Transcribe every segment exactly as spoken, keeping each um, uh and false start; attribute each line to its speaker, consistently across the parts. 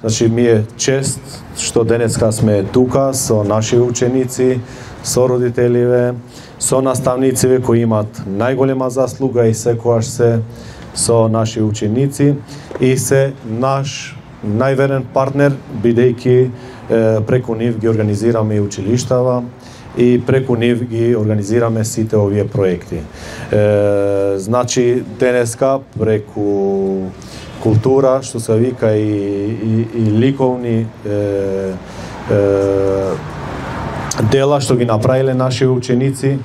Speaker 1: Значи, ми е чест што денеска сме тука со наши ученици, со родителиве, со наставнициве кои имат најголема заслуга и секојаш се со наши ученици и се наш најверен партнер, бидејќи преку нив ги организираме и училиштава и преку нив ги организираме сите овие проекти. Е, значи, денеска преку култура, што се вика и, и, и ликовни е, е, дела што ги направиле наши ученици,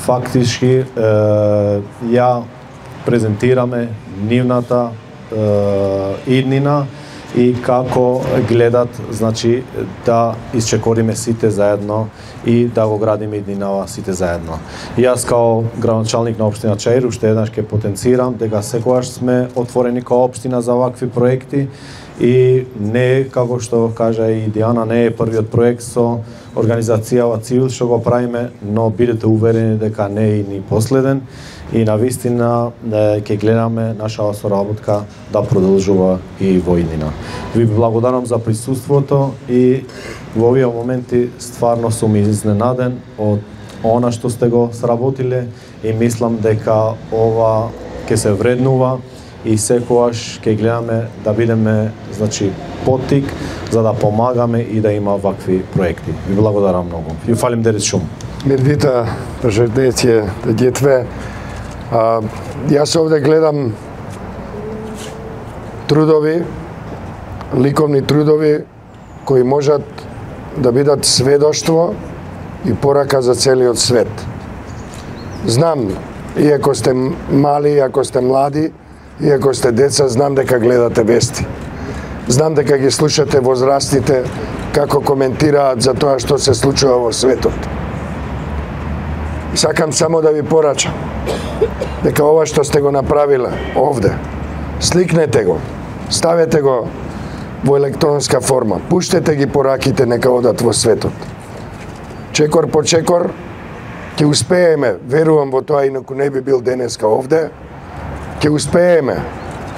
Speaker 1: фактички е, ја презентираме нивната е, иднина и како гледат, значи, да исчекориме сите заедно и да го градиме иднинава сите заедно. Јас као градоначалник на општина Чаир уште еднаш ќе потенцирам дека секогаш сме отворени као општина за вакви проекти и не, како што кажа и Диана, не е првиот проект со организацијава Цивил што го правиме, но бидете уверени дека не е и ни последен и навистина ќе гледаме нашава соработка да продолжува и во иднина. Ви благодарам за присуството и во овие моменти стварно сум изненаден од она што сте го сработиле и мислам дека ова ќе се вреднува и секогаш ќе гледаме да бидеме, значи, поттик за да помагаме и да има вакви проекти. Ви благодарам многу. Ju falim deres шум.
Speaker 2: Мирдита, пожелдејте да детве. А, јас овде гледам трудови, ликовни трудови кои можат да бидат сведоштво и порака за целиот свет. Знам, иако сте мали, иако сте млади, иако сте деца, знам дека гледате вести. Знам дека ги слушате возрастните како коментираат за тоа што се случува во светот. Сакам само да ви порачам дека ова што сте го направиле овде, сликнете го, ставете го во електронска форма, пуштете ги пораките нека одат во светот. Чекор по чекор ќе успееме, верувам во тоа, инаку не би бил денеска овде, ќе успееме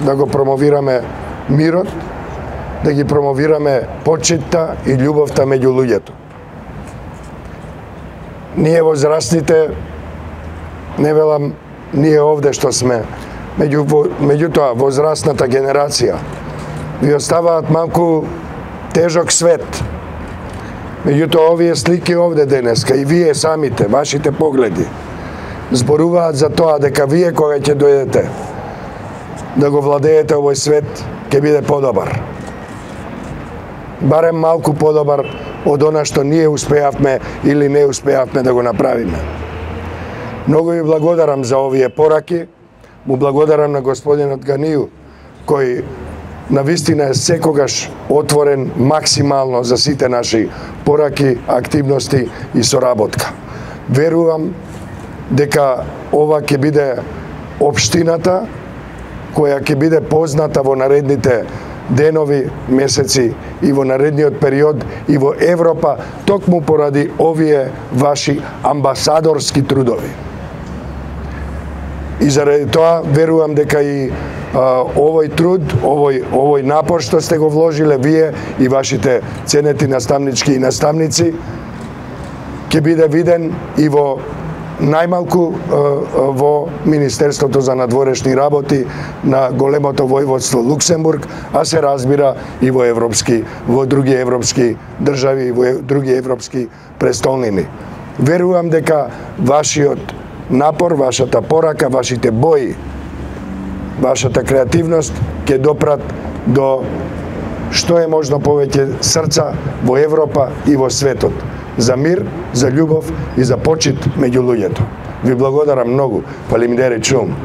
Speaker 2: да го промовираме мирот, да ги промовираме почитта и љубовта меѓу луѓето. Ние возрастните, не велам ние овде што сме, меѓу, меѓутоа возрастната генерација, ви оставаат малку тежок свет. Меѓутоа овие слики овде денеска и вие самите, вашите погледи, зборуваат за тоа дека вие кога ќе дојдете да го владеете овој свет, ќе биде подобар. Барем малку подобар од она што ние успеавме или не успеавме да го направиме. Многу ви благодарам за овие пораки, му благодарам на господинот Ганију, кој навистина е секогаш отворен максимално за сите наши пораки, активности и соработка. Верувам дека ова ќе биде општината која ќе биде позната во наредните денови, месеци и во наредниот период и во Европа, токму поради овие ваши амбасадорски трудови. И заради тоа верувам дека и а, овој труд, овој овој напор што сте го вложиле вие и вашите ценети наставнички и наставници ќе биде виден и во најмалку во Министерството за надворешни работи на големото војводство Луксембург, а се разбира и во европски, во други европски држави и во други европски престолнини. Верувам дека вашиот напор, вашата порака, вашите бои, вашата креативност ќе допрат до што е можно повеќе срца во Европа и во светот. За мир, за љубов и за почит меѓу луѓето. Ви благодарам многу. Фалим дери чум.